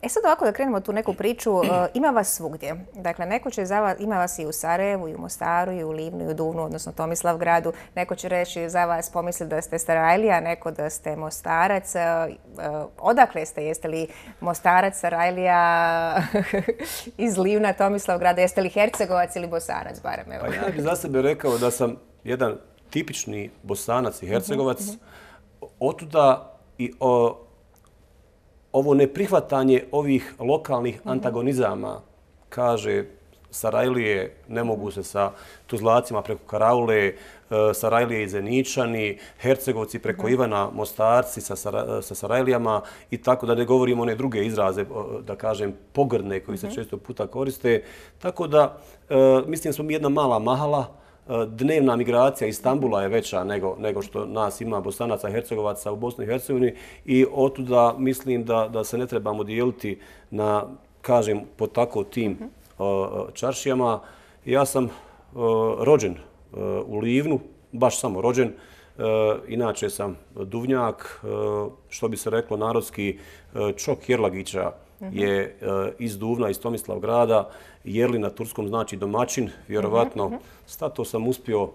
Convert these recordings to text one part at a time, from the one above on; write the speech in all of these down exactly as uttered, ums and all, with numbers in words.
E sad ovako da krenemo tu neku priču, ima vas svugdje. Dakle, neko će za vas, ima vas i u Sarajevu, i u Mostaru, i u Livnu, i u Duvnu, odnosno Tomislavgradu. Neko će reći za vas pomisli da ste Sarajlija, neko da ste Mostarac. Odakle ste? Jeste li Mostarac, Sarajlija, iz Livna, Tomislavgrada? Jeste li Hercegovac ili Bosanac, barem? Pa ja bih za sebe rekao da sam jedan tipični Bosanac i Hercegovac. Otuda i o, ovo neprihvatanje ovih lokalnih antagonizama, kaže Sarajlije ne mogu se sa Tuzlacima preko Karaule, Sarajlije i Zeničani, Hercegovci preko Ivana, Mostarci sa, Sara, sa Sarajlijama i tako da ne govorimo one druge izraze, da kažem, pogrdne koji se često puta koriste. Tako da mislim da smo mi jedna mala mahala. Dnevna migracija Istanbula je veća nego, nego što nas ima Bosanaca i Hercegovaca u Bosni i Hercegovini i otuda mislim da, da se ne trebamo dijeliti na, kažem, po tako tim uh, čaršijama. Ja sam uh, rođen uh, u Livnu, baš samo rođen. Uh, inače sam Duvnjak, uh, što bi se reklo narodski, uh, Čok Jerlagića je uh, iz Duvna, iz Tomislavgrada. Jerli na turskom znači domaćin, vjerovatno. Stato sam uspio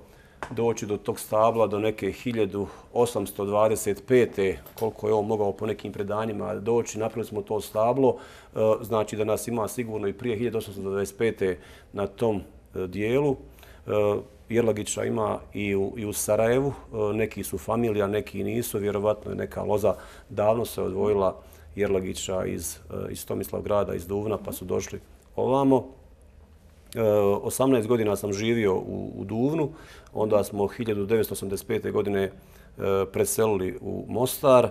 doći do tog stabla do neke hiljadu osamsto dvadeset pete. Koliko je on mogao po nekim predanjima doći. Napravili smo to stablo, uh, znači da nas ima sigurno i prije hiljadu osamsto dvadeset pete na tom uh, dijelu. Uh, Jerlagića ima i u, i u Sarajevu. Uh, neki su familija, neki nisu. Vjerovatno je neka loza davno se odvojila Jerlagića iz, uh, iz Tomislavgrada, iz Duvna, pa su došli ovamo. osamnaest godina sam živio u, u Duvnu, onda smo hiljadu devetsto osamdeset pete. godine e, preselili u Mostar.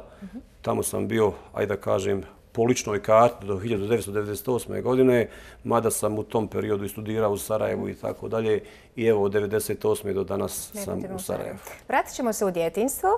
Tamo sam bio, ajde da kažem, po ličnoj karti do hiljadu devetsto devedeset osme. godine, mada sam u tom periodu i studirao u Sarajevu i tako dalje. I evo, od devedeset osme. do danas sam u Sarajevu. Vratit ćemo se u djetinjstvo.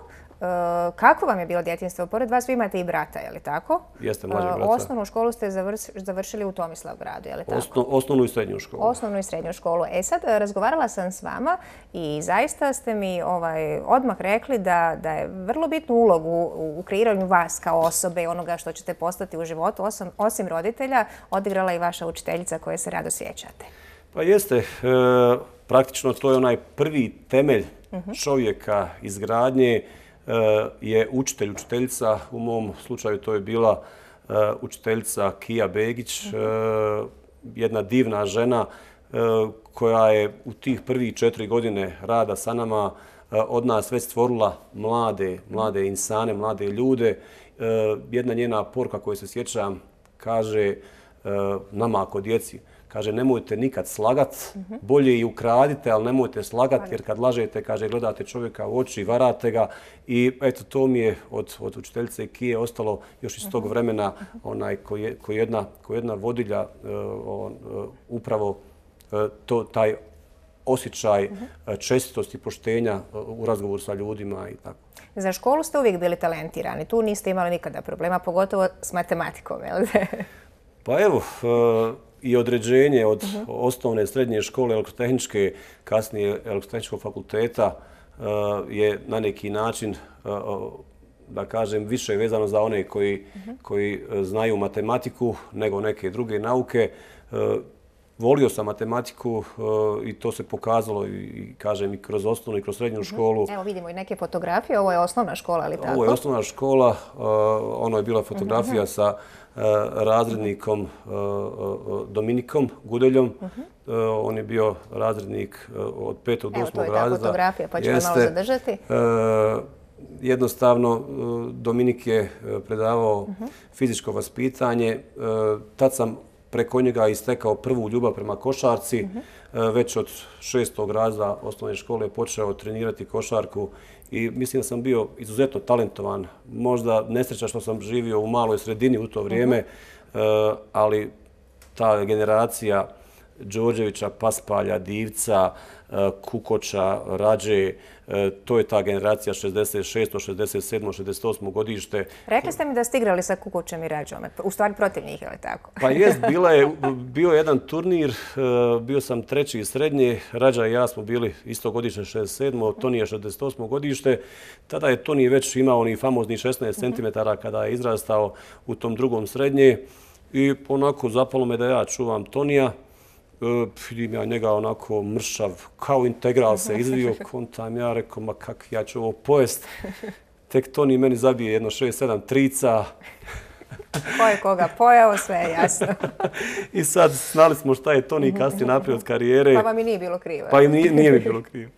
Kako vam je bilo djetinjstvo? Pored vas vi imate i brata, je li tako? Jeste, mlađeg brata. Osnovnu školu ste završili u Tomislavgradu, je li tako? Osno, osnovnu i srednju školu. Osnovnu i srednju školu. E sad, razgovarala sam s vama i zaista ste mi ovaj, odmah rekli da, da je vrlo bitnu ulogu u, u kreiranju vas kao osobe i onoga što ćete postati u životu, osim, osim roditelja, odigrala i vaša učiteljica koje se rado sjećate. Pa jeste. E, praktično to je onaj prvi temelj čovjeka izgradnje. Je učitelj, učiteljica. U mom slučaju to je bila učiteljica Kija Begić, jedna divna žena koja je u tih prvih četiri godine rada sa nama od nas već stvorila mlade, mlade insane, mlade ljude. Jedna njena poruka koju se sjećam kaže nama ako djeci, kaže, nemojte nikad slagat, bolje i ukradite, ali nemojte slagat, jer kad lažete, kaže, gledate čovjeka u oči, varate ga. I eto, to mi je od, od učiteljice Kije ostalo još iz tog vremena, onaj koji je, koji jedna, koji jedna vodilja, uh, on, uh, upravo uh, to, taj osjećaj uh, čestitosti, poštenja uh, u razgovoru sa ljudima i tako. Za školu ste uvijek bili talentirani, tu niste imali nikada problema, pogotovo s matematikom, je li? Pa evo, uh, i određenje od uh-huh. osnovne srednje škole elektrotehničke, kasnije elektrotehničkog fakulteta uh, je na neki način, uh, da kažem, više vezano za one koji, uh-huh. koji znaju matematiku nego neke druge nauke. Uh, volio sam matematiku uh, i to se pokazalo i, kažem, i kroz osnovnu i kroz srednju uh-huh. školu. Evo vidimo i neke fotografije, ovo je osnovna škola, ali tako? Ovo je osnovna škola, uh, ono je bila fotografija uh-huh. sa razrednikom Dominikom Gudeljom. Uh-huh. On je bio razrednik od petog do osmog razreda. Evo, to je ta fotografija, pa ćemo malo zadržati. Jednostavno, Dominik je predavao uh-huh. fizičko vaspitanje. Tad sam preko njega istekao prvu ljubav prema košarci. Uh-huh. Već od šestog razreda osnovne škole počeo trenirati košarku i mislim da sam bio izuzetno talentovan. Možda nesreća što sam živio u maloj sredini u to vrijeme, uh-huh. ali ta generacija Đorđevića, Paspalja, Divca, Kukoča, Rađe, to je ta generacija šezdeset šesto, šezdeset sedmo, šezdeset osmo godište. Rekli ste mi da ste igrali sa Kukočem i Rađom, u stvari protiv njih, je li tako? Pa jest, bila je, bio je jedan turnir, bio sam treći iz srednje, Rađa i ja smo bili isto godište šezdeset sedmo, Toni je šezdeset osmo godište. Tada je Toni već imao oni famozni šesnaest centimetara kada je izrastao u tom drugom srednje. I onako zapalo me da ja čuvam Tonija. Vidim ja njega onako mršav, kao integral se izvio, kontam ja, rekao, ma kak ja ću ovo pojest. Tek Toni meni zabije jedno šest sedam trica. Ko je koga pojao, sve je jasno. I sad znali smo šta je Toni kasnije napravio od karijere. Pa vam i nije bilo krivo. Pa i nije, nije mi bilo krivo.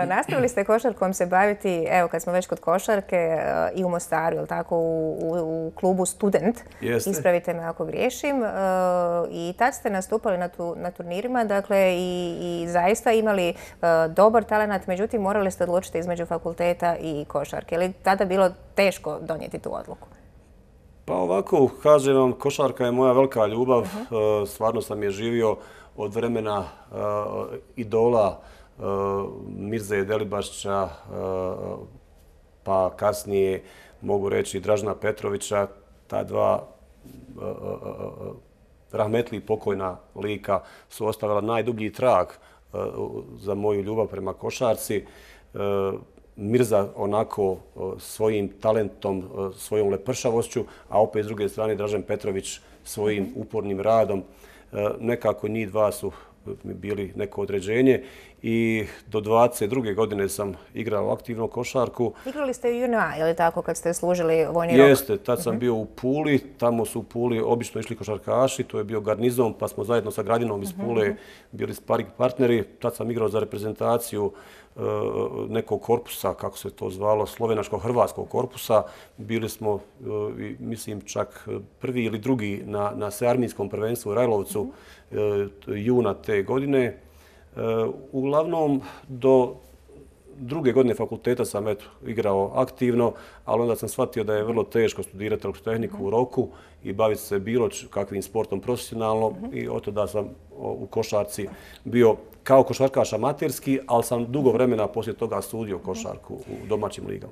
Nastavili ste košarkom se baviti, evo kad smo već kod košarke, i u Mostaru, jel tako, u, u, u klubu Student. Jeste. Ispravite me ako griješim. I tad ste nastupali na, tu, na turnirima, dakle, i, i zaista imali dobar talenat, međutim morali ste odlučiti između fakulteta i košarke. Je li tada bilo teško donijeti tu odluku? Pa ovako, kažem vam, košarka je moja velika ljubav. Uh-huh. Stvarno sam je živio od vremena uh, idola uh, Mirze Delibašića, uh, pa kasnije mogu reći Dražena Petrovića. Ta dva uh, uh, rahmetli pokojna lika su ostavila najdublji trag uh, za moju ljubav prema košarci. Uh, Mirza onako svojim talentom, svojom lepršavošću, a opet s druge strane Dražen Petrović svojim upornim radom. Nekako njih dva su bili neko određenje i do dvadeset druge godine sam igrao aktivno košarku. Igrali ste u Juna, je li tako, kad ste služili vojni rok? Jeste, tad sam bio u Puli, tamo su u Puli obično išli košarkaši, to je bio garnizon, pa smo zajedno sa Gradinom iz Pule bili sparing partneri. Tad sam igrao za reprezentaciju nekog korpusa, kako se to zvalo, slovenačko-hrvatskog korpusa. Bili smo, mislim, čak prvi ili drugi na, na svearmijskom prvenstvu u Rajlovcu juna te godine. Uglavnom, do druge godine fakulteta sam eto, igrao aktivno, ali onda sam shvatio da je vrlo teško studirati elektrotehniku u roku i baviti se bilo kakvim sportom profesionalno i od tada sam u košarci bio kao košarkaš amaterski, ali sam dugo vremena poslije toga studio košarku u domaćim ligama.